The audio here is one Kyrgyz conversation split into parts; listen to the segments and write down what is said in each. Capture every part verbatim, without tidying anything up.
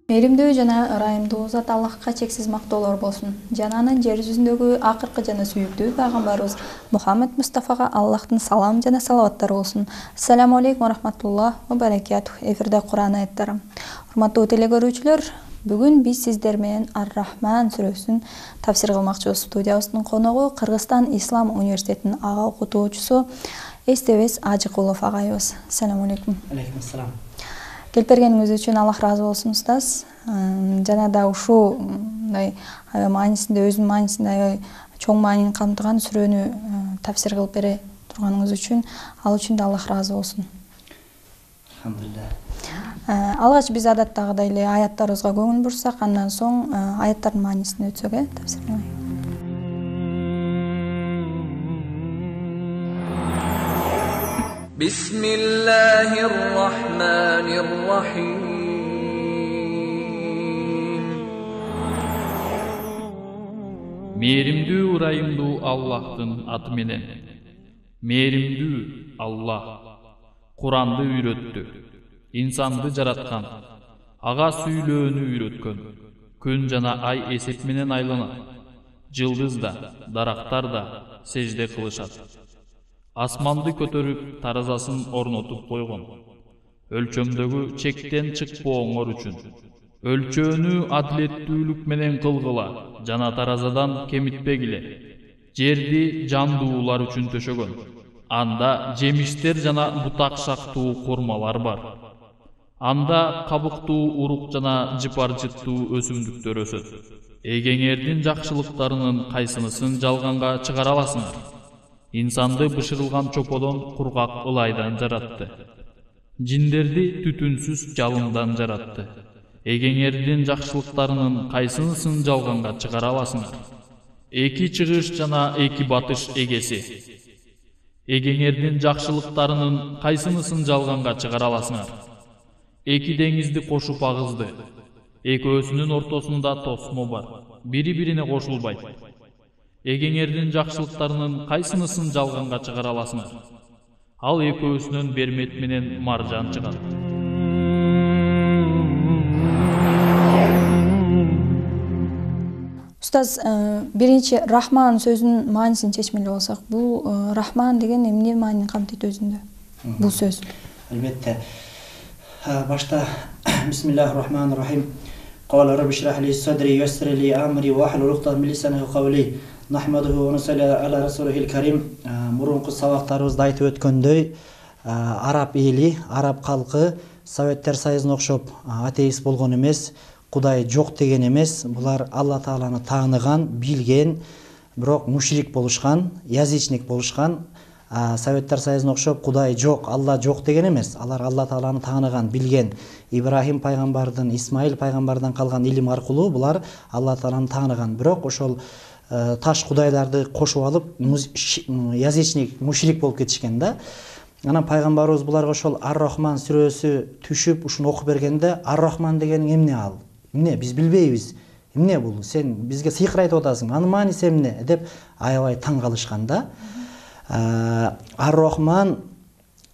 Мээримдүү жана ырайымдуу Зат Аллахка чексиз мактоолор болсун. Жана анын жер жүзүндөгү акыркы жана сүйүктүү пайгамбарыбыз Мухаммед Мустафага Аллахтын салам жана салаваттары болсун. Ассаламу алейкум ва рахматуллах ва баракатух. Эфирде Кур'ан аяттары. Урматтуу телекөрүүчүлөр, бүгүн биз сиздер менен Ар-Рахман сүрөсүн тафсир кылмакчыбыз. Студиябыздын коногу Кыргызстан Ислам университетинин ага окутуучусу Эстебес Ажыкулов агайыбыз. Ассаламу алейкум. Алейкум ассалам. Келип бергениңиз үчүн Аллах ыраазы болсун, устаз. Жана да ушул мындай маанисинде, өзүнүн маанисинде аябай чоң маанини камтыган сүрөнү тафсир кылып бере турганыңыз үчүн, ал үчүн да Аллах ыраазы болсун. Алхамдулилlah. Алгач биз адаттагыдай эле аяттарыбызга көңүл бурсак, андан соң аяттардын маанисине өтсөк, э, тафсир. بسم الله الرحمن الرحيم Мээримдүү ырайымдуу Аллахтын аты менен. Мээримдүү Аллах Куранды үйрөттү, инсанды жараткан, ага сүйлөөнү үйрөткөн. Күн жана ай эсеп менен айланат. Жылдыз да, дарактар да сежде кылышат. Асманды көтөрүп, таразасын орнотуп койгон. Өлчөмдөгү чектен чыкпооңор үчүн. Өлчөөнү адилеттүүлүк менен кылгыла, жана таразадан кемитпегиле. Жерди жандуулар үчүн төшөгөн. Анда жемиштер жана бутак шактуу курмалар бар. Анда кабыктуу урук жана жыпар-жыттуу өсүмдүктөр өсөт. Эгеңердин жакшылыктарынын кайсынысын жалганга чыгара аласыңар? İnsanды бышырылган чоподон кургак ылайдан жаратты. Жиндерди түтүнсүз жалындан жаратты. Эгеңердин жакшылыктарынын кайсынысын жалганга чыгара аласыңар? Эки чыгыш жана эки батыш эгеси. Эгеңердин жакшылыктарынын кайсынысын жалганга чыгара аласыңар? Эки деңизди кошуп агызды. Экөөсүнүн ортосунда тосмо бар. Бири-бирине кошулбайт. Эгеңердин жакшылыктарынын кайсынысын жалганга чыгара аласыңар? Ал экөөсүнөн бермет менен маржан чыгат. Устаз, биринчи Рахман сөзүнүн маанисин чечмели болсак, бул Рахман деген эмне маанини камтыйт өзүндө? Бул сөз. Албетте. Башта Бисмиллахир-рахманир-рахим. Qala rabbi shrah li sadri yassir li amri wa hlul uqdatan min lisani qawli. Нахмадуху ва нусалли аля расулихил карим. Мурунку сабактарыбызда айтып өткөндөй, араб эли, араб калкы Советтер Союзуна окшоп атеист болгон эмес, Кудай жок деген эмес. Булар Алла Тааланы тааныган, билген, бирок мушрик болушкан, язычник болушкан. Советтер Союзуна окшоп Кудай жок, Алла жок деген эмес. Алар Алла Тааланы тааныган, билген. Ибрахим пайгамбардын, Исмаил пайгамбардан калган илим аркылуу булар Алла Тааланы тааныган. Бирок ошол таш кудайларды кошуп алып, язычник, мушрик болуп кетишкен да. Анан пайгамбарыбыз буларга ошол Ар-Рахман сүрөсү түшүп, ушуну окуп бергенде, Ар-Рахман деген эмне ал? Эмне биз билбейбиз? Эмне бул? Сен бизге сыйкыр айтып атасың. Анын мааниси эмне? деп аябай таң калышкан да. Ар-Рахман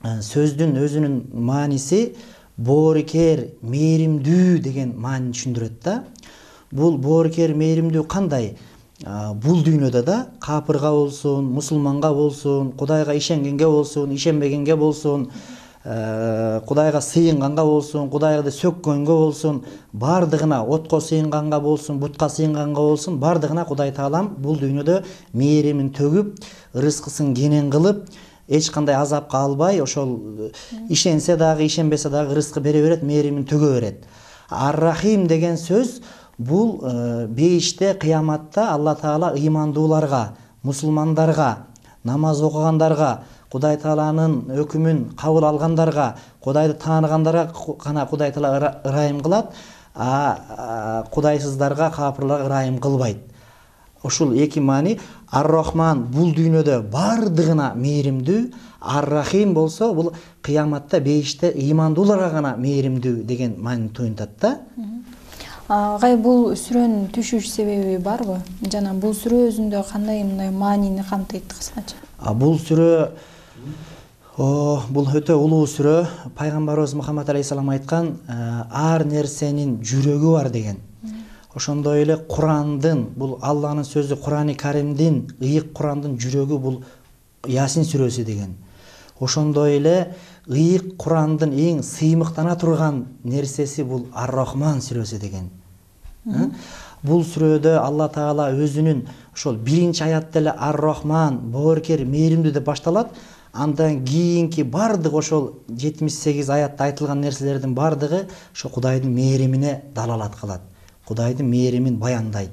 сөздүн өзүнүн мааниси боорукер, мээримдүү деген маанини түшүндүрөт да. Бул боорукер, мээримдүү кандай? Бул дүйнөдө да капырга болсун, мусулманга болсун, Кудайга ишенгенге болсун, ишенбегенге болсун, Кудайга сыйынганга болсун, Кудайды сөккөнгө болсун, бардыгына, отко сыйынганга болсун, бутка сыйынганга болсун, бардыгына Кудай Таалам бул дүйнөдө мээримин төгүп, рызкысын кенен кылып, эч кандай азапка албай, ошол ишенсе дагы, ишенбесе дагы рызкы бере берет, мээримин төгө берет. Ар-Рахим деген сөз бул бейиште, кыяматта Алла Таала ыймандууларга, мусулмандарга, намаз окугандарга, Кудай Тааланын өкүмүн кабыл алгандарга, Кудайды тааныгандарга гана Кудай Таала ырайым кылат, а кудайсыздарга, капырларга ырайым кылбайт. Ушул эки маани. Ар-Рахман бул дүйнөдө бардыгына мээримдүү, Ар-Рахим болсо бул кыяматта, бейиште ыймандууларга гана мээримдүү деген маанини туюнтат да. Агай, бул сүрөнүн түшүш себеби барбы? Жана бул сүрө өзүндө кандай мындай маанини камтыйт кыскача? Бул сүрө О, бул өтө улуу сүрө. Пайгамбарыбыз Мухаммад алейхиссалам айткан, ар нерсенин жүрөгү бар деген. Ошондой эле Курандын, бул Алланын сөзү, Курани Каримдин, ыйык Курандын жүрөгү бул Ясин сүрөсү деген. Ошондой эле ыйык Курандын эң сыймыктана турган нерсеси бул Ар-Рахман сүрөсү деген. Бул сүрөдө Алла Таала өзүнүн ошол биринчи аятта эле Ар-Рахман, боорукер, мээримдүү деп башталат. Андан кийинки бардык ошол жетимиш сегиз аятта айтылган нерселердин бардыгы ошо Кудайдын мээримине далалат кылат. Кудайдын мээримин баяндайт.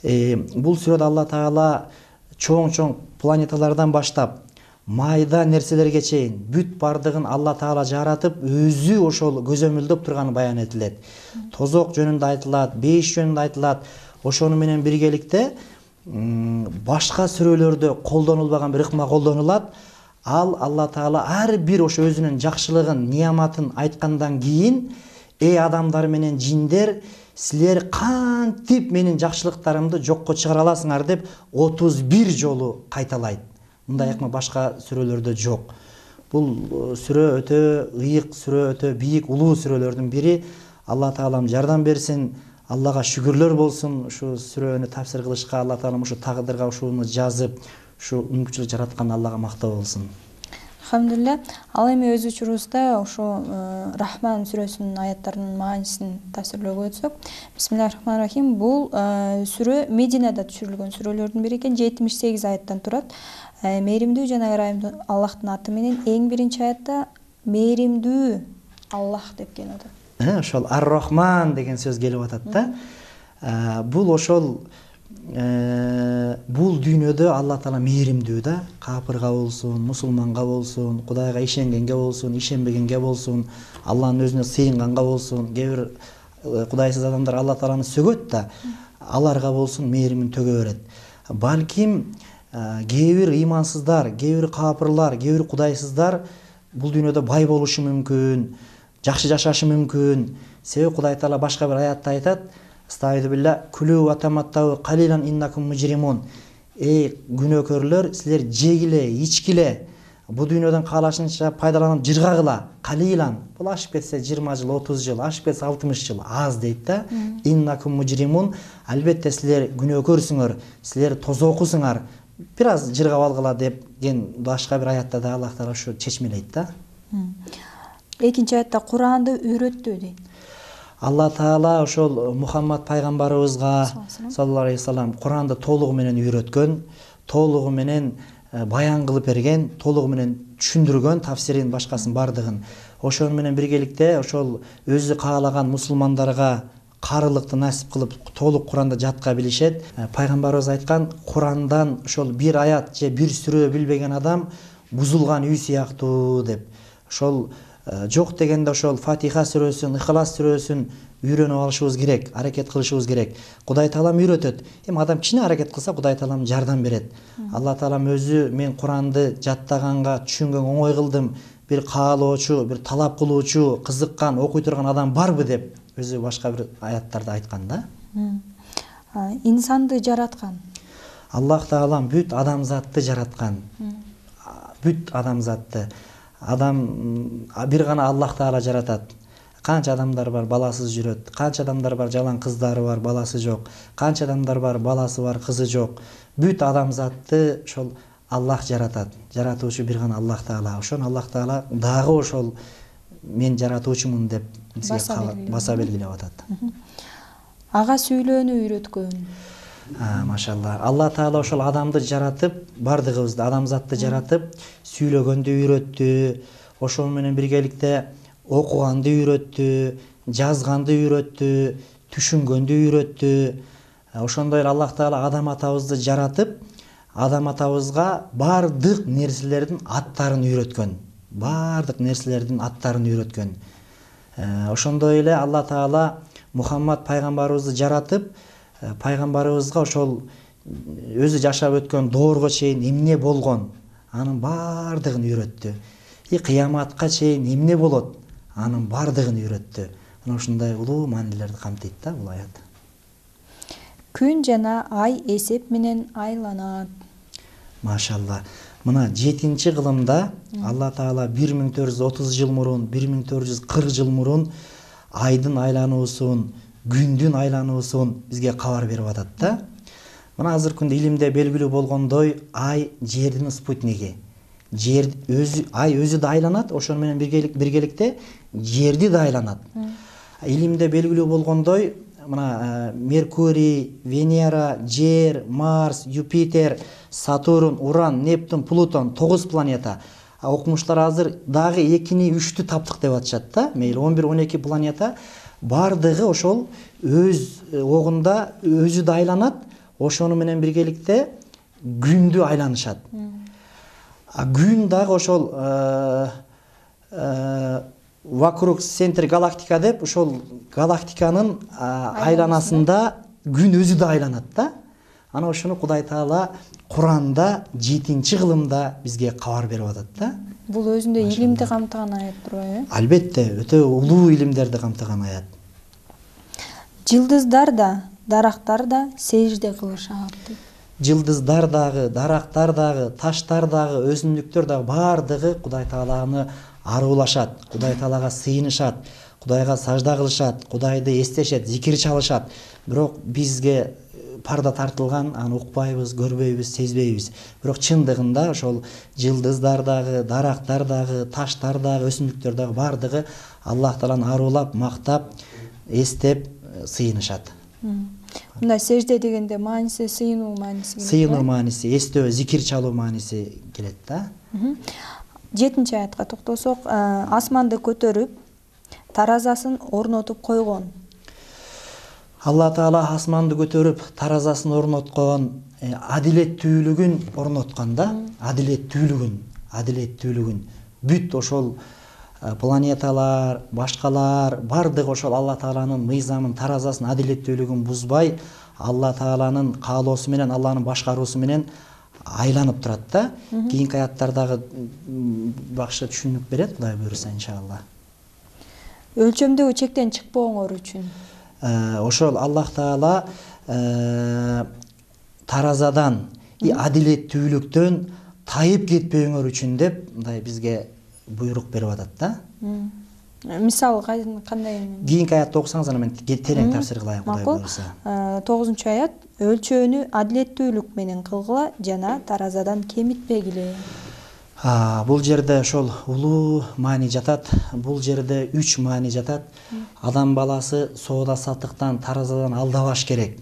Э, бул сүрөдө Алла Таала чоң-чоң планеталардан баштап майда нерселерге чейин бүт бардыгын Алла Таала жаратып, өзү ошол көзөмөлдөп турганы баян этилет. Тозок жөнүндө айтылат, бейиш жөнүндө айтылат. Ошону менен биргеликте башка сүрөлөрдө колдонулбаган бир ыкма колдонулат. Ал Алла Таала ар бир ошо өзүнүн жакшылыгын, нияматын айткандан кийин, эй адамдар менен жиндер, силер кантип менин жакшылыктарымды жокко чыгара аласыңар деп отуз бир жолу кайталайт. Мындай ыкма башка сүрөлөрдө жок. Бул сүрө өтө ыйык сүрө, өтө бийик, улуу сүрөлөрдүн бири. Алла Таалам жардам берсин, Аллага шүгүрлөр болсун. Ушу сүрөнү тафсир кылышка Алла Таалам ушу тагдырга ушуну жазып, ушу мүмкүнчүлүк жараткан Аллага мактоо болсун. Алхамдулилля. Ал эми өз учурубузда ошо Рахман сүрөсүнүн аяттарынын маанисин тафсирлөөгө өтсөк. Бисмиллахир-рахманир-рахим. Бул сүрө Мединада түшүрүлгөн сүрөлөрдүн бири экен. жетимиш сегиз аяттан турат. Мээримдүү жана ырайымдуу Аллахтын аты менен эң биринчи аятта мээримдүү Аллах деп келип атат. Ошол Ар-Рахман деген сөз келип атат да. Бул ошол бул дүйнөдө Алла Таала мээримдүү да. Капырга болсун, мусулманга болсун, Кудайга ишенгенге болсун, ишенбегенге болсун, Алланын өзүнө сыйынганга болсун, кээ бир кудайсыз адамдар Алла Тааланы сөгөт да, аларга болсун мээримин төгө берет. Балким кээ бир ыймансыздар, кээ бир капырлар, кээ бир кудайсыздар бул дүйнөдө бай болушу мүмкүн, жакшы жашашы мүмкүн. Себеби Кудай Таала башка бир аятта айтат: "Стайду билла кулу ва таматтау калилан иннакум мужримун". Эй күнөөкөрлөр, силер жегиле, ичкиле, бу дүйнөдөн каалашынча пайдаланып жыргагыла. Калилан, бул ашып кетсе жыйырма жыл, отуз жыл, ашып кетсе алтымыш жыл аз дейт да. Иннакум мужримун, албетте силер күнөөкөрсүңөр, силер тозокусуңар. Бир аз жыргап алгыла деген башка бир аятта да Аллах Таала ушу чечмелейт да. Экинчи аятта Куранды үйрөттү дейт. Алла Таала ошол Мухаммад пайгамбарыбызга саллаллаху алейхи вассалам Куранды толугу менен үйрөткөн, толугу менен баян кылып берген, толугу менен түшүндүргөн, тафсирин башкасын бардыгын. Ошону менен биргеликте ошол өзү каалаган мусулмандарга карылыкты насип кылып толук Куранды жатка билишет. Пайгамбарыбыз айткан, Курандан ошол бир аят же бир сүрө билбеген адам бузулган үй сыяктуу деп. Ошол жок дегенде ошол Фатиха сүрөсүн, Ихлас сүрөсүн үйрөнүп алышыбыз керек, аракет кылышыбыз керек. Кудай Таалам үйрөтөт. Эми адам кичине аракет кылса, Кудай Таалам жардам берет. Алла Таалам өзү мен Куранды жаттаганга, түшүнгөнгө оңой кылдым. Бир каалоочу, бир талап кылуучу, кызыккан, окуй турган адам барбы деп өзү башка бир аяттарда айткан да. Инсанды жараткан. Аллах Таалам бүт адамзатты жараткан. Бүт адамзатты. Адам бир гана Аллах Таала жаратат. Канча адамдар бар, баласыз жүрөт. Канча адамдар бар, жалаң кыздары бар, баласы жок. Канча адамдар бар, баласы бар, кызы жок. Бүт адамзатты ошол Аллах жаратат. Жаратуучу бир гана Аллах Таала. Ошон Аллах Таала дагы ошол мен жаратуучумун деп баса белгилеп атат. Ага сүйлөөнү үйрөткөн. Машалла. Алла Таала ошол адамды жаратып, бардыгыбызды, адамзатты жаратып, сүйлөгөндү үйрөттү. Ошол менен биргеликте окуганды үйрөттү, жазганды үйрөттү, түшүнгөндү үйрөттү. Ошондой эле Аллах Таала адам атабызды жаратып, адам атабызга бардык нерселердин аттарын үйрөткөн. Бардык нерселердин аттарын үйрөткөн. Ошондой эле Алла Таала Мухаммад пайгамбарыбызды жаратып, пайгамбарыбызга ошол өзү жашап өткөн доорго чейин эмне болгон, анын бардыгын үйрөттү. И кыяматка чейин эмне болот, анын бардыгын үйрөттү. Мына ушундай улуу маанилерди камтыйт да бул аят. Күн жана ай эсеп менен айланат. Машалла. Мына жетинчи кылымда Алла Таала бир миң төрт жүз отуз жыл мурун, бир миң төрт жүз кырк жыл мурун айдын айлануусун, күндүн айлануусун бизге кабар берип атат да. Мына азыркы күндө илимде белгилүү болгондой, ай жердин спутниги. Жер өзү, ай өзү да айланат, ошону менен биргеликте жерди да айланат. Илимде белгилүү болгондой, мына Меркурий, Венера, Жер, Марс, Юпитер, Сатурн, Уран, Нептун, Плутон тогуз планета. Окумуштар азыр дагы экини, үчтү таптык деп атышат да. Мейли он бир, он эки планета бардыгы ошол өз огунда өзү да айланат, ошону менен биргеликте күндү айланышат. А күн дагы ошол вокруг центр галактика деп, ошол галактиканын айланасында күн өзү да айланат да. Ана ошону Кудай Таала Куранда жетинчи кылымда бизге кабар берип атат да. Бул өзүндө илимди камтыган аят турбайбы? Албетте, өтө улуу илимдерди камтыган аят. Жылдыздар да, дарактар да сежде кылышат. Жылдыздар дагы, дарактар дагы, таштар дагы, өсүмдүктөр дагы бардыгы Кудай Тааланы аруулашат, Кудай Таалага сыйынышат, Кудайга сажда кылышат, Кудайды эстешет, зикир чалышат. Бирок бизге парда тартылган, аны укпайбыз, көрбөйбүз, сезбейбиз. Бирок чындыгында ошол жылдыздар дагы, дарактар дагы, таштар дагы, өсүмдүктөр дагы бардыгы Аллах Тааланы аруулап, мактап, эстеп, сыйынышат. Мындай сежде дегенде мааниси сыйынуу мааниси. Сыйынуу мааниси, эстөө, зикир чалуу мааниси келет да. Жетинчи аятка токтосок, асманды көтөрүп, таразасын орнотуп койгон. Алла Таала асманды көтөрүп, таразасын орноткон, адилеттүүлүгүн орноткон да. Адилеттүүлүгүн, адилеттүүлүгүн. Бүт ошол планеталар, башкалар бардыгы ошол Алла Тааланын мыйзамын, таразасын, адилеттүүлүгүн бузбай, Алла Тааланын каалоосу менен, Алланын башкаруусу менен айланып турат да. Кийинки аяттардагы бакшы түшүнүк берет, Кудай буйруса иншалла. Өлчөмдөгү чектен чыкпооңор үчүн ошол Аллах Таала таразадан, адилеттүүлүктөн тайып кетпөөңөр үчүн деп мындай бизге буйрук берип атат да. Мисалы кандай? Кийинки аятты окусаңыз аны мен терең тафсир кылайын, Кудай буйруса. тогузунчу аят: өлчөөнү адилеттүүлүк менен кылгыла жана таразадан кемитпегиле. Бул жерде ошол улуу маани жатат. Бул жерде үч маани жатат. Адам баласы соода саттыктан, таразадан алдабаш керек.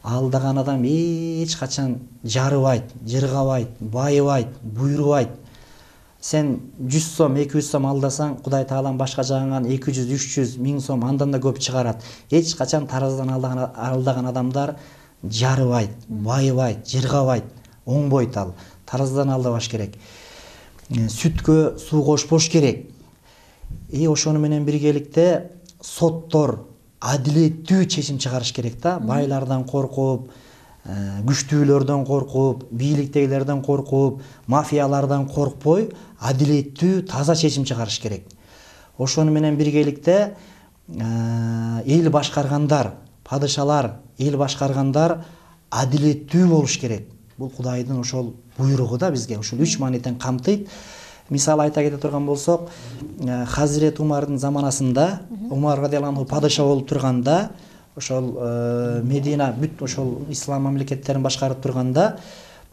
Алдаган адам эч качан жарыбайт, жыргабайт, байыбайт, буйрубайт. Сен жүз сом, эки жүз сом алдасаң, Кудай Таалам башка жагыңан эки жүз, үч жүз, миң сом андан да көп чыгарат. Эч качан таразадан алдаган, алдаган адамдар жарыбайт, байыбайт, жыргабайт, оңбойт ал. Таразадан алдабаш керек. Сүткө суу кошпош керек. И ошону менен биргеликте соттор адилеттүү чечим чыгарыш керек да. Байлардан коркуп, күчтүүлөрдөн коркуп, бийликтегилерден коркуп, мафиялардан коркпой, адилеттүү, таза чечим чыгарыш керек. Ошону менен биргеликте эл башкаргандар, падышалар, эл башкаргандар адилеттүү болуш керек. Бул Кудайдын ошол буйругу да бизге ошол үч мааниден камтыйт. Мисал айта кете турган болсок, Хазирет Умардын заманасында, Умар радиаллаху анху падыша болуп турганда, ошол Медина бүт ошол ислам мамлекеттерин башкарып турганда,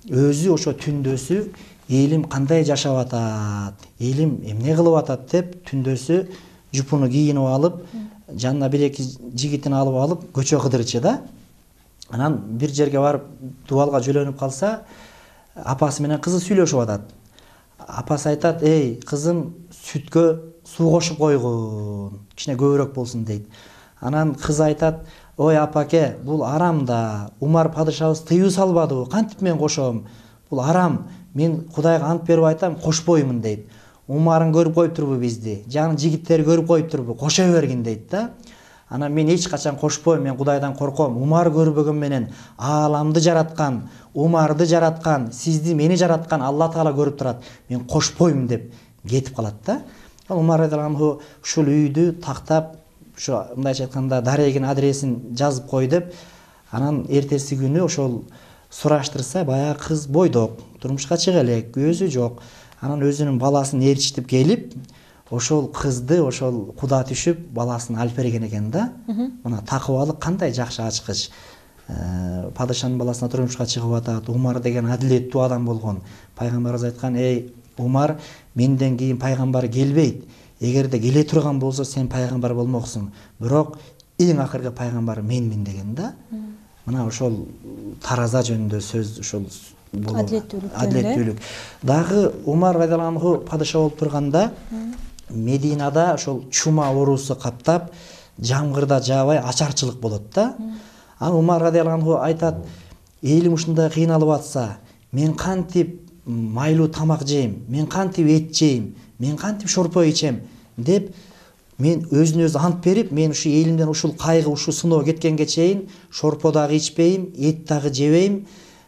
өзү ошо түндөсү элим кандай жашап атат, элим эмне кылып атат деп түндөсү жупуну кийинип алып, жанына бир эки жигитин алып алып көчө кыдырчы да. Анан бир жерге барып дубалга жөлөнүп калса, апасы менен кызы сүйлөшүп атат. Апасы айтат: "Эй, кызым, сүткө суу кошуп койгун, кичине көбүрөөк болсун" дейт. Анан кыз айтат: "Ой апаке, бул арам да. Умар падышабыз тыюу салбадыбы? Кантип мен кошом? Бул арам. Мен Кудайга ант берип айтам, кошпоймун" дейт. Умарын көрүп коюптурбу бизди? Жанын жигиттери көрүп коюптурбу? Кошо бергин дейт да. Анан мен эч качан кошпойм, мен Кудайдан корком. Умар көрбөгөн менен ааламды жараткан, Умарды жараткан, сизди, мени жараткан Алла Таала көрүп турат. Мен кошпойм деп кетип калат да. Умар радиаллаху анху ушул үйдү тактап, ушу мындайча айтканда дарегин адресин жазып кой деп, анан эртеси күнү ошол сураштырса, баягы кыз бойдок, турмушка чыга элек, көзү жок. Анан өзүнүн баласын ээрчитип келип, ошол кызды ошол куда түшүп баласын алып берген экен да. Мына такыбалык кандай жакшы ачкыч. Падышанын баласына турмушка чыгып атат. Умар деген адилеттүү адам болгон. Пайгамбарыбыз айткан: "Эй Умар, менден кийин пайгамбар келбейт. Эгерде келе турган болсо сен пайгамбар болмоксуң. Бирок эң акыркы пайгамбар менмин" деген да. Мына ошол тараза жөнүндө сөз ошол адилеттүүлүк. Адилеттүүлүк. Дагы Умар радиаллаху анху падыша болуп турганда Мединада ошол чума оорусу каптап, жамгырда жаабай ачарчылык болот да. Ал Умар радиаллаху анху айтат: "Элим ушундай кыйналып атса, мен кантип майлуу тамак жейм, мен кантип эт жейм, мен кантип шорпо ичем" деп мен өзүнө өзү ант берип, мен ушу элимден ушул кайгы, ушул сыноо кеткенге чейин шорпо дагы ичпейм, эт дагы жебейм,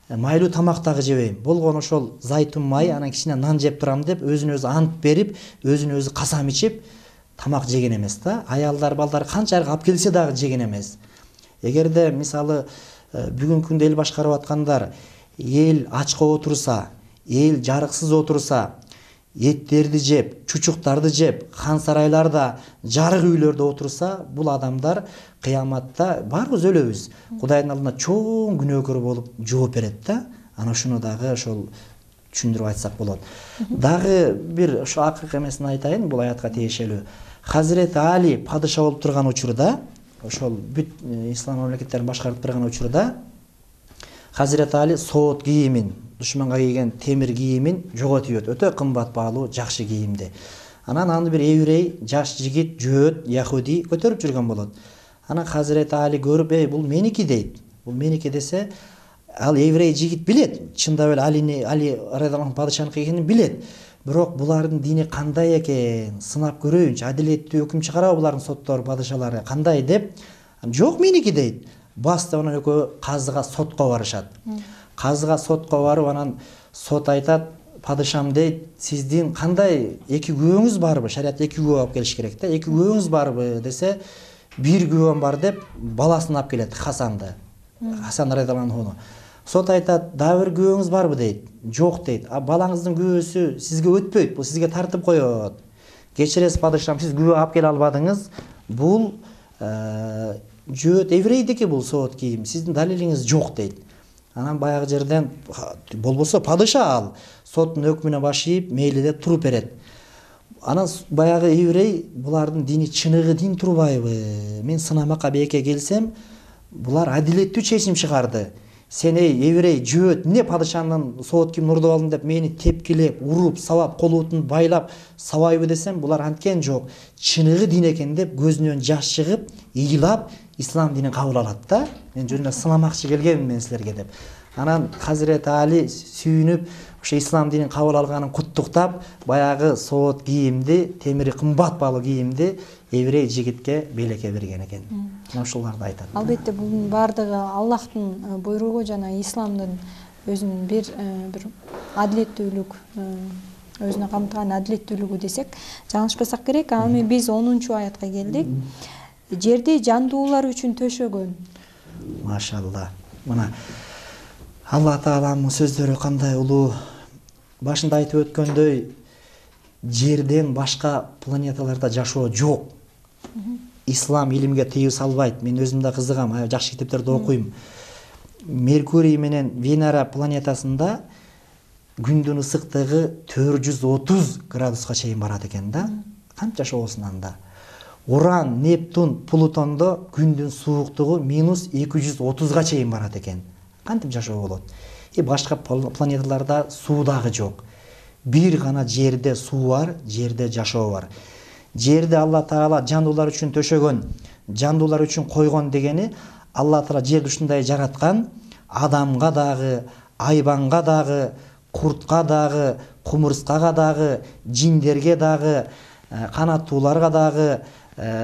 майлуу тамак дагы жебейм. Болгону ошол зайтун май, анан кичине нан жеп турам деп өзүнө өзү ант берип, өзүнө өзү касам ичип тамак жеген эмес да. Аялдар, балдар канчалык алып келсе дагы жеген эмес. Эгерде мисалы бүгүнкү күндө эл башкарып аткандар эл ачка отурса, эл жарыксыз отурса, эттерди жеп, чучуктарды жеп, хан сарайларда, жарык үйлөрдө отурса, бул адамдар кыяматта баарыбыз өлөбүз. Кудайдын алдында чоң күнөөкөр болуп жооп берет да. Ана ушуну дагы ошол түшүндүрүп айтсак болот. Дагы бир ошо акыркы эмесин айтайын, бул аятка тиешелүү. Хазирети Али падыша болуп турган учурда, ошол бүт ислам мамлекеттерин башкарып турган учурда Хазирети Али соот кийимин, душманга кийген темир кийимин жоготуп ийет. Өтө кымбат баалуу, жакшы кийимди. Анан аны бир еврей, жаш жигит, жөөт, яхуди көтөрүп жүргөн болот. Анан Хазирети Али көрүп: "Эй, бул меники" дейт. Бул меники десе, ал еврей жигит билет. Чындап эле Алини, Али радиаллаху падышанын кийгенин билет. Бирок булардын дини кандай экен, сынап көрөйүнчү, адилеттүү өкүм чыгарабы булардын соттору, падышалары кандай деп. "Жок, меники" дейт. Басты анан экөө казыга, сотко барышат. Казыга, сотко барып, анан сот айтат: "Падышам" дейт, "Сиздин кандай эки күбөңүз барбы?" Шариятта эки күбө алып келиш керек да. "Эки күбөңүз барбы?" десе, "Бир күбөм бар" деп баласын алып келет, Хасанды. Хасан радиаллаху анху. Сот айтат: "Дагы бир күбөңүз барбы?" дейт. "Жок" дейт. "А балаңыздын күбөсү сизге өтпөйт, бул сизге тартып коет. Кечиресиз падышам, сиз күбө алып келе албадыңыз. Бул жөөт еврейдики, бул соот кийим. Сиздин далилиңиз жок" дейт. Анан баягы жерден болбосо падыша ал соттун өкмүнө баш ийип, мейли деп туруп берет. Анан баягы еврей булардын дини чыныгы дин турбайбы? Мен сынамакка бээке келсем, булар адилеттүү чечим чыгарды. Сен эй еврей, жөөт, эмне падышанын соот кийимин урдуп алдың деп мени тепкилеп, уруп, сабап, колутун байлап сабайбы десем, булар анткен жок. Чыныгы дин экен деп көзүнөн жаш чыгып, ыйлап, ислам динин кабыл алат да. Мен жөн эле сынамакчы келгенмин мен силерге деп. Анан Хазирети Али сүйүнүп, ошо ислам динин кабыл алганын куттуктап, баягы соот кийимди, темири кымбат баалуу кийимди еврей жигитке белекке берген экен. Мына ушуларды айтат. Албетте бунун баардыгы Аллахтын буйругу жана исламдын өзүнүн бир бир адилеттүүлүк, өзүнө камтыган адилеттүүлүгү десек жаңылышпасак керек. Аны эми биз онунчу аятка келдик. Жерди жандуулар үчүн төшөгөн. Машалла. Мына Алла Тааламдын сөздөрү кандай улуу. Башында айтып өткөндөй, жерден башка планеталарда жашоо жок. Ислам илимге тыюу салбайт. Мен өзүм да кызыгам, жакшы китептерди окуйм. Меркурий менен Венера планетасында күндүн ысыктыгы төрт жүз отуз градуска чейин барат экен да. Канча жашоосун анда. Уран, Нептун, Плутондо күндүн сууктугу минус эки жүз отузга чейин барат экен. Кантип жашоо болот? И башка планеталарда суу дагы жок. Бир гана жерде суу бар, жерде жашоо бар. Жерди Алла Таала жандуулар үчүн төшөгөн, жандуулар үчүн койгон дегени Алла Таала жерди ушундай жараткан, адамга дагы, айбанга дагы, куртка дагы, кумурскага дагы, жиндерге дагы, канаттууларга дагы,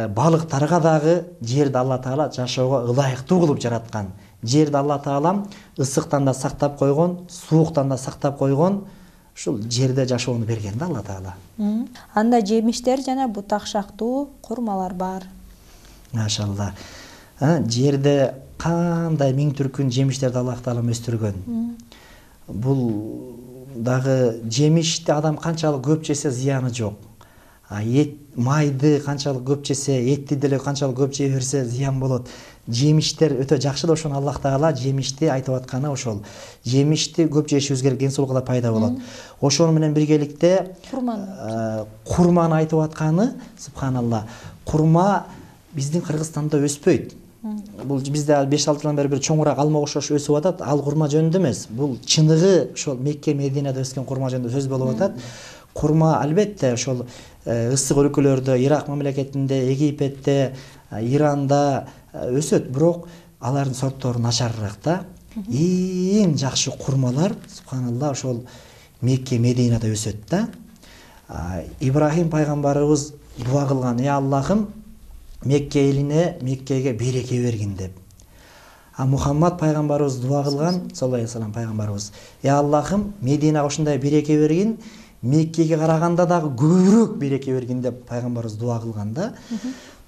балыктарга дагы жерди Алла Таала жашоого ылайыктуу кылып жараткан. Жерди Алла Таалам ысыктан да сактап койгон, сууктан да сактап койгон. Ушул жерде жашоону берген да Алла Таала. Анда жемиштер жана бутак шактуу курмалар бар. Машалла. Жерде кандай миң түркүн жемиштерди Аллах Таала өстүргөн. Бул дагы жемишти адам канчалык көп жесе зыяны жок. А эт, майды канчалык көп жесе, этти деле канчалык көп жей берсе зыян болот. Жемиштер өтө жакшы да, ошону Аллах Таала жемишти айтып атканы ошол. Жемишти көп жешибиз керек, ден соолукка да пайда болот. Ошону менен биргеликте курманы курманы айтып атканы, субханалла. Курма биздин Кыргызстанда өспөйт. Бул бизде беш алты жылдан бери бир чоңураак алма окшош өсүп атат. Ал курма жөнүндө эмес. Бул чыныгы ошол Мекке, Мединеде өскөн курма жөнүндө сөз болуп атат. Курма албетте ошол ысык өлкөлөрдө, Ирак мамлекетинде, Египетте, Иранда өсөт, бирок алардын сорттору начарыраак да. Эң жакшы курмалар субханалла ошол Мекке, Мединеде өсөт да. Ибрахим пайгамбарыбыз дуа кылган: "Ey Аллахым, Мекке элине, Меккеге береке бергин" деп. А Мухаммад пайгамбарыбыз дуа кылган, саллаллаху алейхи вассалам пайгамбарыбыз: "Ey Аллахым, Мединеге ушундай береке бергин, Меккеге караганда дагы көбүрөөк береке бергин" деп пайгамбарыбыз дуа кылган да.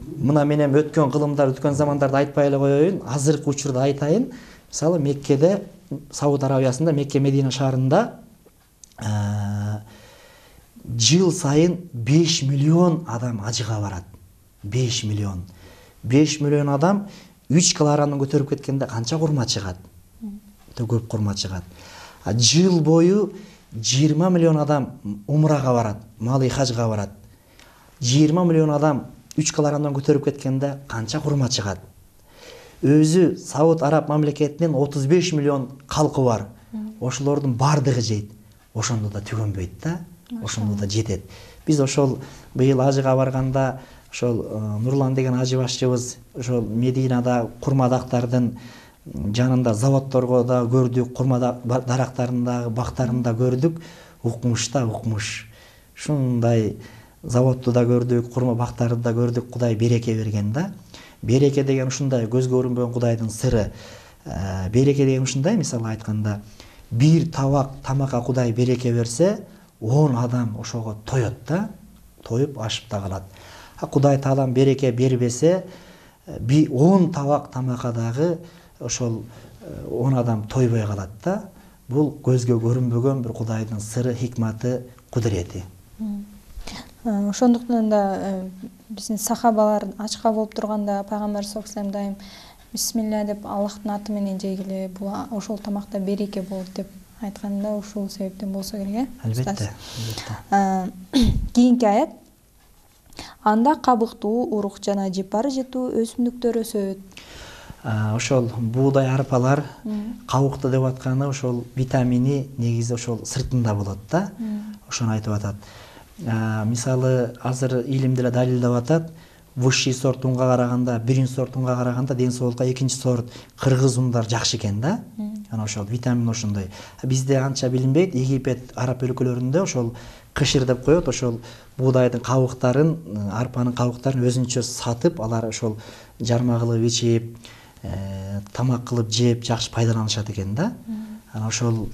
Мына мен эми өткөн кылымдар, өткөн замандарды айтпай эле коеюн, азыркы учурда айтайын. Мисалы Меккеде, Сауд Арабиясында, Мекке Медина шаарында жыл сайын беш миллион адам ажыга барат. беш миллион. беш миллион адам үч килограммдан көтөрүп кеткенде канча курма чыгат? Өтө көп курма чыгат. А жыл бою жыйырма миллион адам умрага барат, малы хажга барат. жыйырма миллион адам үч килограммдан көтөрүп кеткенде канча курма чыгат? Өзү Сауд Араб мамлекетинин отуз беш миллион калкы бар. Ошолордун бардыгы жейт. Ошондо да түгөнбөйт да. Ошондо да жетет. Биз ошол быйыл ажыга барганда ошол Нурлан деген ажы башчыбыз ошол Мединада курмадактардын жанында заводторго да көрдүк, курма дарактарындагы бактарын да көрдүк. Укмуш да укмуш. Ушундай заводду да көрдүк, курма бактарды да көрдүк. Кудай береке берген да. Береке деген ушундай көзгө көрүнбөгөн Кудайдын сыры. Береке деген ушундай, мисалы айтканда, бир табак тамакка Кудай береке берсе, он адам ошого тоет да, тоюп ашып да калат. А Кудай Таалам береке бербесе, он табак тамакка дагы ошол он адам тойбой калат да. Бул көзгө көрүнбөгөн бир Кудайдын сыры, хикматы, кудурети. Ошондуктан да биздин сахабалар ачка болуп турганда пайгамбар саллаллаху алейхи вассалам дайым бисмилля деп Аллахтын аты менен жегиле, бул ошол тамакта береке болот деп айтканда ушул себептен болсо керек, э? Албетте. Кийинки аят: анда кабыктуу, урук жана жыпар жытуу өсүмдүктөр өсөт. Ошол буудай арпалар кабыктуу деп атканы ошол витамини негизи ошол сыртында болот да. Ошону айтып атат. Мисалы азыр илим деле далилдеп атат. Высший сорт унга караганда, биринчи сорт унга караганда ден соолукка экинчи сорт кыргыз ундар жакшы экен да. Анан ошол витамин ошондой. Бизде анча билинбейт. Египет, араб өлкөлөрүндө ошол кышыр деп коет, ошол буудайдын кабыктарын, арпанын кабыктарын өзүнчө сатып, алар ошол жарма кылып ичип, тамак кылып жеп жакшы пайдаланышат экен да. Анан ошол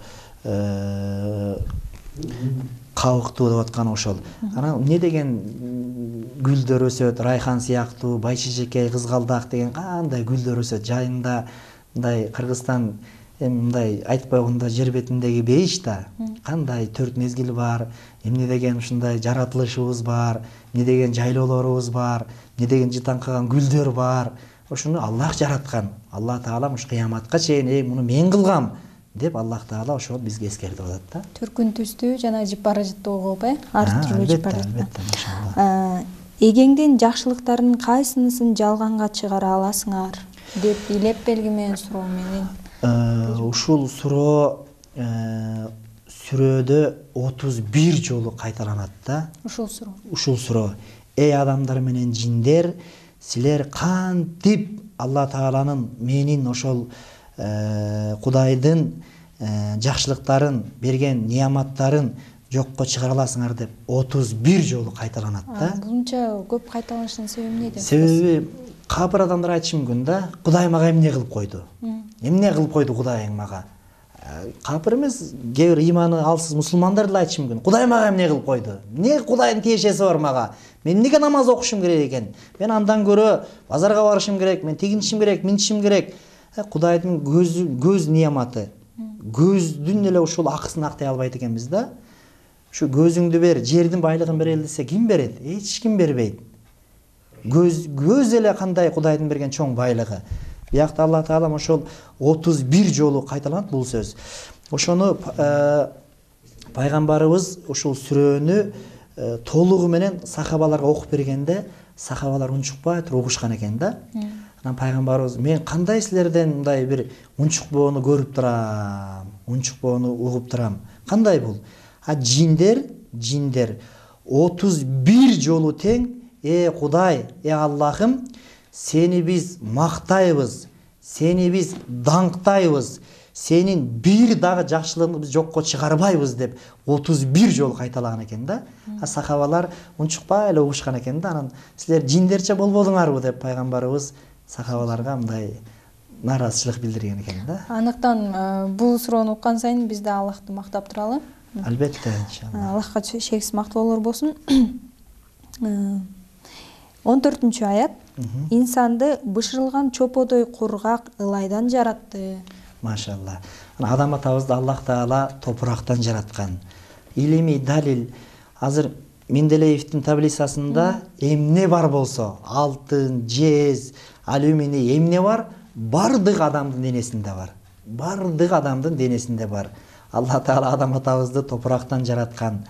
кабыктуу деп атканы ошол. Анан эмне деген гүлдөр өсөт, райхан сыяктуу, байчежекей, кызгалдак деген кандай гүлдөр өсөт. Жайында мындай Кыргызстан эми мындай айтпай койгондо жер бетиндеги бейиш да. Кандай төрт мезгил бар, эмне деген ушундай жаратылышыбыз бар, эмне деген жайлоолорубуз бар, эмне деген жытаңкаган гүлдөр бар. Ошону Аллах жараткан. Алла Таалам ушу кыяматка чейин "Эй, муну мен кылгам" деп Аллах Таала ошол бизге эскертип атат да. Түркүн түстүү жана жыпар жытуу кылып, э? Ар түрдүү жыпар жытуу. Албетте, машалла. Эгеңдин жакшылыктарынын кайсынысын жалганга чыгара аласыңар деп илеп белгимен суроо менен. Ушул суроо сүрөдө отуз бир жолу кайталанат да. Ушул суроо. Ушул суроо. Эй адамдар менен жиндер, силер кантип Алла Тааланын, менин ошол Кудайдын жакшылыктарын, берген неаматтарын жокко чыгара аласыңар деп отуз бир жолу кайталанат да. Бунча көп кайталанышынын себеби эмнеде? Себеби капыр адамдар айтышы мүмкүн да, Кудай мага эмне кылып койду? Эмне кылып койду Кудайың мага? Капыр эмес, кээ бир ыйманы алсыз мусулмандар деле айтышы мүмкүн. Кудай мага эмне кылып койду? Эмне Кудайдын тиешеси бар мага? Мен эмнеге намаз окушум керек экен? Мен андан көрө базарга барышым керек, мен тигинишим керек, минишим керек. Кудайдын көз көз неаматы. Көздүн эле ушул акысын актай албайт экенбиз да. Ушу көзүңдү бер, жердин байлыгын берели десе ким берет? Эч ким бербейт. Көз көз эле кандай Кудайдын берген чоң байлыгы. Биякта Алла Таала ошол отуз бир жолу кайталанат бул сөз. Ошону пайгамбарыбыз ушул сүрөнү толугу менен сахабаларга окуп бергенде, сахабалар унчукпай туруп угушкан экен да. Анан пайгамбарыбыз мен кандай силерден мындай бир унчукпоону көрүп турам, унчукпоону угуп турам. Кандай бул? А жиндер, жиндер отуз бир жолу тең, э Кудай, э Аллахым, сени биз мактайбыз, сени биз даңктайбыз, сенин бир дагы жакшылыгыңды биз жокко чыгарбайбыз деп отуз бир жолу кайталаган экен да. А сахабалар унчукпай эле угушкан экен да. Анан силер жиндерче болбодуңарбы деп пайгамбарыбыз сахабаларга мындай нааразычылык билдирген экен да. Анықтан бул суроону уккан сайын биз да Аллахты мактап туралы. Албетте, иншалла. Аллахка шексиз мактоолор болсун. он төртүнчү аят. Инсанды бышырылган чоподой кургак ылайдан жаратты. Машалла. Адам атабызды Аллах Таала топурактан жараткан. Илимий далил. Азыр Менделеевдин таблицасында эмне бар болсо, алтын, жез, алюминий эмне бар, бардык адамдын денесинде бар. Бардык адамдын денесинде бар. Алла Таала адам атабызды топурактан жараткан.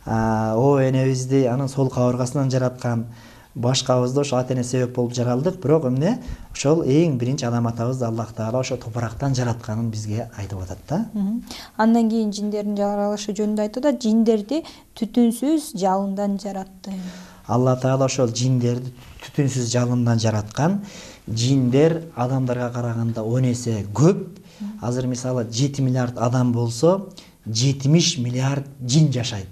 О энебизди анын сол кабыргасынан жараткан. Башкабызды ошо ата эне себеп болуп жаралдык, бирок эмне? Ошол эң биринчи адам атабызды Аллах Таала ошо топурактан жаратканын бизге айтып атат да. Андан кийин жиндердин жаралышы жөнүндө айтты да, жиндерди түтүнсүз жалындан жаратты. Алла Таала ошол жиндерди түтүнсүз жалындан жараткан. Жиндер адамдарга караганда он эсе көп. Азыр мисалы жети миллиард адам болсо, жетимиш миллиард жин жашайт.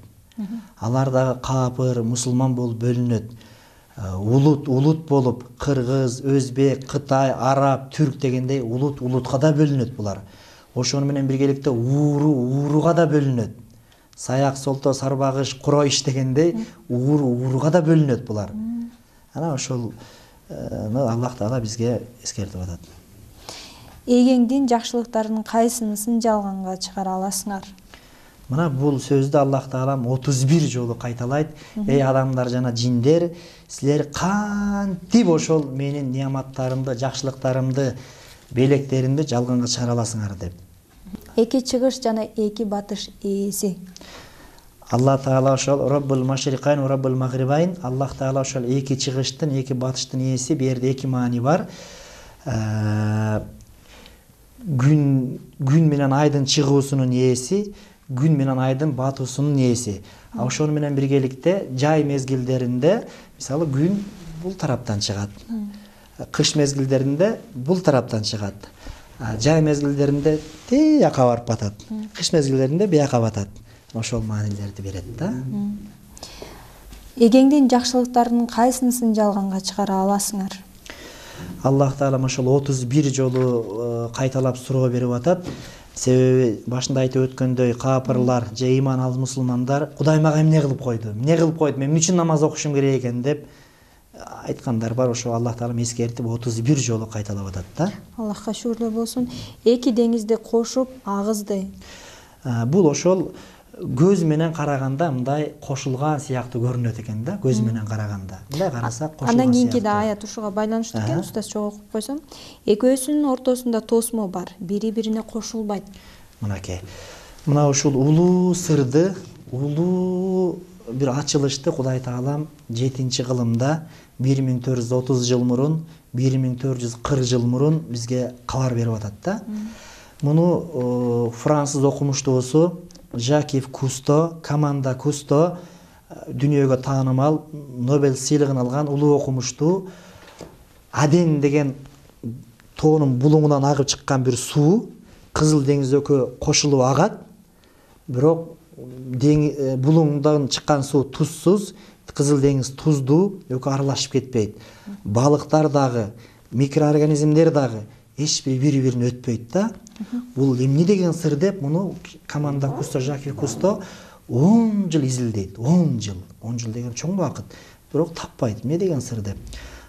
Алар дагы капыр, мусулман болуп бөлүнөт. Улут, улут болуп, кыргыз, өзбек, кытай, араб, түрк дегендей улут, улутка да бөлүнөт булар. Ошону менен биргеликте ууру, ууруга да бөлүнөт. Саяк, солто, сарбагыш, куроиш дегендей ууру, ууруга да бөлүнөт булар. Анан ошол Аллах Таала бизге эскертип атат. Эгеңдин жакшылыктарынын кайсынысын жалганга чыгара аласыңар? Мына бул сөздү Аллах Таала отуз бир жолу кайталайт. Эй адамдар жана жиндер, силер кантип ошол менин неаматтарымды, жакшылыктарымды, белектеримди жалганга чыгара аласыңар деп. Эки чыгыш жана эки батыш ээси. Алла Таала ошол Роббул Машрикайн, Роббул Магрибайн, Аллах Таала ошол эки чыгыштын, эки батыштын ээси, бу жерде эки маани бар. Күн күн менен айдын чыгуусунун ээси, күн менен айдын батуусунун ээси. А ошону менен биргеликте жай мезгилдеринде, мисалы күн бул тараптан чыгат. Кыш мезгилдеринде бул тараптан чыгат. Жай мезгилдеринде тияка барып батат. Кыш мезгилдеринде бияка батат. Ошол маанилерди берет да. Эгеңдин жакшылыктарынын кайсынысын жалганга чыгара аласыңар? Аллах Таала ошол отуз бир жолу кайталап суроо берип атат. Себеби башында айтып өткөндөй капырлар же иман алган мусулмандар Кудай мага эмне кылып койду? Эмне кылып койду? Мен эмне үчүн намаз окушум керек экен деп айткандар бар. Ошо Аллах Таала эскертип отуз бир жолу кайталап атат да. Аллахка шүгүрлөр болсун. Эки деңизди кошуп агызды. Бул ошол көз менен караганда мындай кошулган сыяктуу көрүнөт экен да, көз менен караганда. Мындай карасак кошулган. Андан кийинки да аят ушуга байланыштуу экен, устаз чогуу окуп койсом. Экөөсүнүн ортосунда тосмо бар, бири-бирине кошулбайт. Мынакей. Мына ушул улуу сырды, улуу бир ачылышты Кудай Таалам жетинчи кылымда бир миң төрт жүз отуз жыл мурун, бир миң төрт жүз кырк жыл мурун бизге кабар берип атат да. Муну француз окумуштуусу Жакив Кусто, команда Кусто, дүйнөгө таанымал Нобель сыйлыгын алган улуу окумуштуу. Аден деген тоонун булуңунан агып чыккан бир суу Кызыл деңиз экөө кошулуп агат. Бирок булуңдан чыккан суу тузсуз, Кызыл деңиз туздуу, экөө аралашып кетпейт. Балыктар дагы, микроорганизмдер дагы эч бири бири-бирин өтпөйт да. Бул эмне деген сыр деп муну команда Кусто, Жакив Кусто он жыл изилдейт. он жыл. он жыл деген чоң убакыт. Бирок таппайт. Эмне деген сыр деп.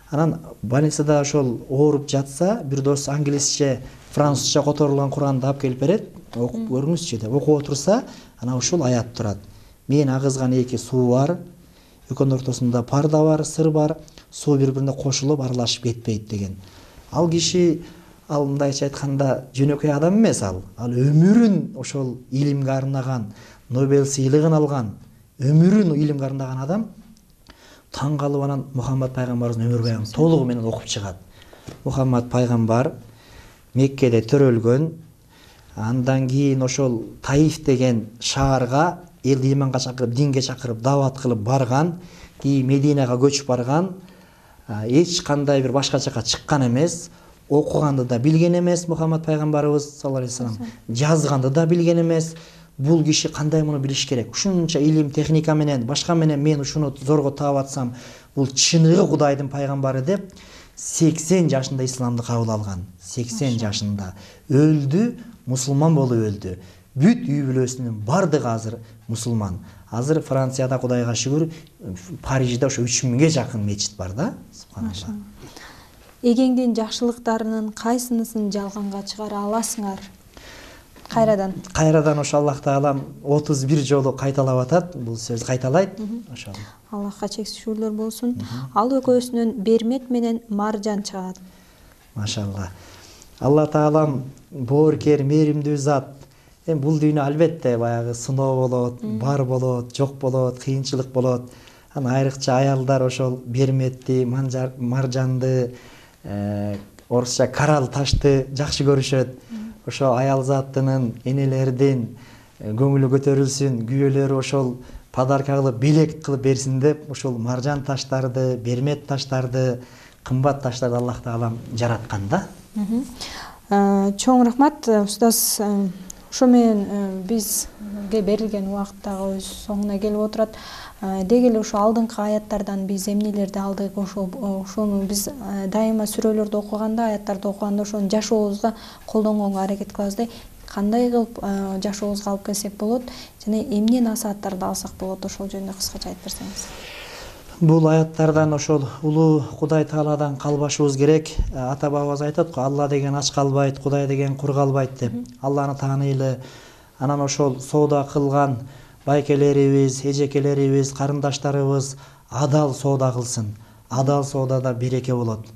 Анан больницада ошол ооруп жатса, бир дос англисче, французча которулган Куранды алып келип берет, окуп көрүңүзчү деп окуп отурса, анан ушул аят турат. Мен агызган эки суу бар, экөөнүн ортосунда парда бар, сыр бар, суу бири-бирине кошулуп аралашып кетпейт деген. Ал киши, ал мындайча айтканда жөнөкөй адам эмес ал. Ал өмүрүн ошол илимге арнаган, Нобель сыйлыгын алган, өмүрүн илимге арнаган адам таң калып анан Мухаммад пайгамбарыбыздын өмүр баянын толугу менен окуп чыгат. Мухаммад пайгамбар Меккеде төрөлгөн, андан кийин ошол Таиф деген шаарга элди иманга чакырып, динге чакырып, дават кылып барган, кийин Мединага көчүп барган, эч кандай бир башка жака чыккан эмес, окуганды да билген эмес Мухаммад пайгамбарыбыз саллаллаху алейхи вассалам, жазганды да билген эмес. Бул киши кандай муну билиш керек? Ушунча илим, техника менен, башка менен мен ушуну зорго таап атсам, бул чыныгы Кудайдын пайгамбары деп сексен жашында исламды кабыл алган. сексен жашында өлдү, мусулман болуп өлдү. Бүт үй бүлөсүнүн бардыгы азыр мусулман. Азыр Францияда Кудайга шүгүр, Парижде ошо үч миңге жакын мечит бар да. Субханалла. Эгеңдин жакшылыктарынын кайсынысын жалганга чыгара аласыңар? Кайрадан. Кайрадан ошо Аллах Таалам отуз бир жолу кайталап атат. Бул сөз кайталайт. Ошол. Аллахка чексиз шүгүрлөр болсун. Ал экөөсүнөн Бермет менен Маржан чыгат. Машалла. Алла Таалам боорукер, мээримдүү зат. Эми бул дүйнө албетте баягы сыноо болот, бар болот, жок болот, кыйынчылык болот. Анан айрыкча аялдар ошол Берметти, Маржанды, орусча карал ташты жакшы көрүшөт. Ошо аял заттынын, энелердин көңүлү көтөрүлсүн, күйөөлөрү ошол подарка кылып, белек кылып берсин деп, ошол маржан таштарды, бермет таштарды, кымбат таштарды Аллах Таалам жараткан да. Чоң рахмат, устаз. Ошо менен бизге берилген убакыт дагы өз соңуна келип отурат. Деги эле ошо алдыңкы аяттардан биз эмнелерди алдык, ошону биз дайыма сүрөлөрдү окуганда, аяттарды окуганда ошону жашообузга колдонгонго аракет кылабыз да. Кандай кылып жашообузга алып келсек болот жана эмне насааттарды алсак болот, ошол жөнүндө кыскача айтып берсеңиз. Бул аяттардан ошол улуу Кудай Тааладан калбашыбыз керек. Ата бабабыз айтат го, Алла деген ач калбайт, Кудай деген кур калбайт деп. Алланы тааныйлы. Анан ошол соода кылган байкелерибиз, эжекелерибиз, карындаштарыбыз адал соода кылсын. Адал соодада береке болот.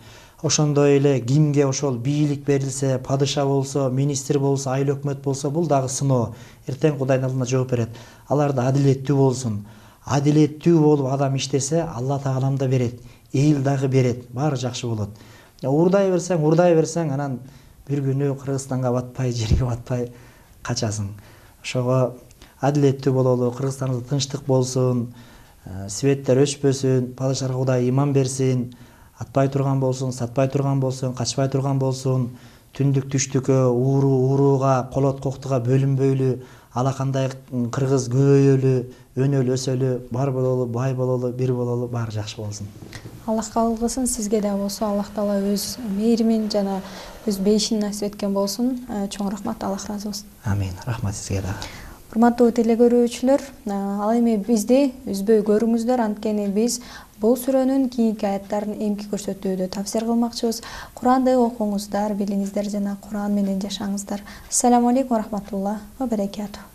Ошондой эле кимге ошол бийлик берилсе, падыша болсо, министр болсо, айыл өкмөт болсо, бул дагы сыноо. Эртең Кудайдын алдында жооп берет. Алар да адилеттүү болсун. Адилеттүү болуп адам иштесе, Алла Таалам да берет, эл дагы берет, баары жакшы болот. Урдай берсең, урдай берсең, анан бир күнү Кыргызстанга батпай, жерге батпай качасың. Ошого адилеттүү бололу, Кыргызстанда тынчтык болсун, светтер өчпөсүн, падышаларга Кудай иман берсин, атпай турган болсун, сатпай турган болсун, качпай турган болсун, түндүк түштүккө, ууру урууга, колот коктуга бөлүнбөйлү, алакандай кыргыз көбөйөлү, өнөлү өсөлү, бар бололу, бай бололу, бир бололу, баары жакшы болсун. Аллах кабыл кылсын, сизге да болсо Аллах Таала өз мээримин жана өз бейишин насип эткен болсун. Чоң рахмат, Аллах ыраазы болсун. Амин. Рахмат сизге да. Урматтуу телекөрүүчүлөр, ал эми бизди үзбөй көрүңүздөр, анткени биз бул сүрөнүн кийинки аяттарын эмки көрсөтүүдө тафсир кылмакчыбыз. Куранды окуңуздар, билиңиздер жана Куран менен жашаңыздар. Ассаламу алейкум ва рахматуллах ва баракатух.